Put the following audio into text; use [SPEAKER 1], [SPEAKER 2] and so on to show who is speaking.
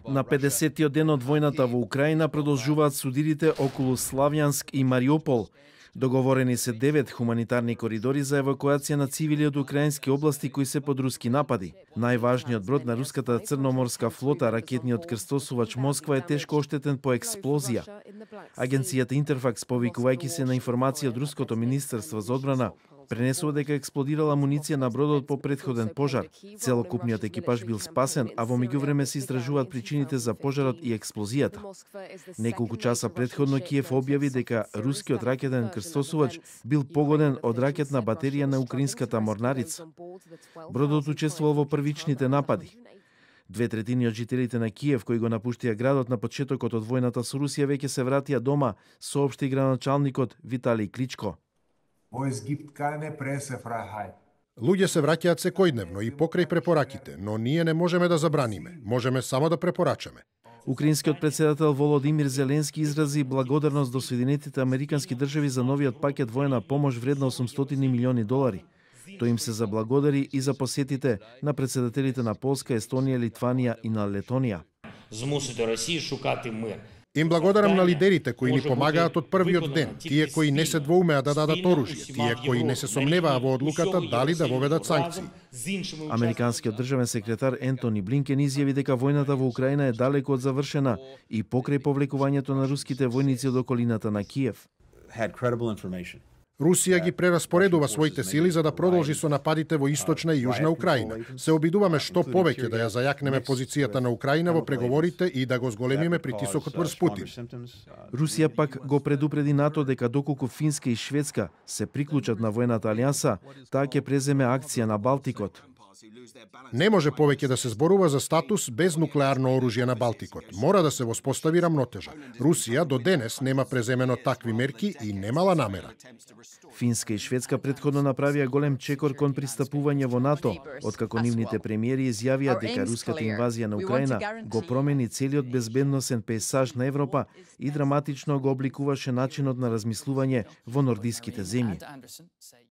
[SPEAKER 1] На 50-тиот ден од војната во Украина продолжуваат судирите околу Славјанск и Мариупол. Договорени се 9 хуманитарни коридори за евакуација на цивили од украински области кои се под руски напади. Најважниот брод на руската црноморска флота, ракетниот крстосувач Москва, е тешко оштетен по експлозија. Агенцијата Интерфакс, повикувајќи се на информација од руското министерство за одбрана, пренесува дека експлодирала амуниција на бродот по претходен пожар. Целокупниот екипаж бил спасен, а во меѓувреме се истражуваат причините за пожарот и експлозијата. Неколку часа претходно Киев објави дека рускиот ракетен крстосувач бил погоден од ракетна батерија на украинската морнарица. Бродот учествувал во првичните напади. 2/3 од жителите на Киев кои го напуштија градот на почетокот од војната со Русија веќе се вратија дома, соопшти градоначалникот Виталий Кличко.
[SPEAKER 2] Луѓе се враќаат секојдневно и покрај препораките, но ние не можеме да забраниме, можеме само да препорачаме.
[SPEAKER 1] Украинскиот председател Володимир Зеленски изрази благодарност до Соединетите Американски држави за новиот пакет војна помош вредна $800 милиони. Тој им се заблагодари и за посетите на председателите на Полска, Естонија, Литванија и на Летонија.
[SPEAKER 3] Змусите Росија шукати мир.
[SPEAKER 2] Им благодарам на лидерите кои ни помагаат од првиот ден, тие кои не се двоумеа да дадат оружје, тие кои не се сомневаа во одлуката дали да воведат санкции.
[SPEAKER 1] Американскиот државен секретар Ентони Блинкен изјави дека војната во Украина е далеку од завршена и покрај повлекувањето на руските војници од околината на Киев.
[SPEAKER 2] Русија ги прераспоредува своите сили за да продолжи со нападите во источна и јужна Украина. Се обидуваме што повеќе да ја зајакнеме позицијата на Украина во преговорите и да го зголемиме притисокот врз Путин.
[SPEAKER 1] Русија пак го предупреди НАТО дека доколку Финска и Шведска се приклучат на војната алијанса, таа ќе преземе акција на Балтикот.
[SPEAKER 2] Не може повеќе да се зборува за статус без нуклеарно оружје на Балтикот. Мора да се воспостави рамнотежа. Русија до денес нема преземено такви мерки и немала намера.
[SPEAKER 1] Финска и Шведска претходно направија голем чекор кон пристапување во НАТО, откако нивните премиери изјавија дека руската инвазија на Украина го промени целиот безбедносен пейзаж на Европа и драматично го обликуваше начинот на размислување во нордиските земји.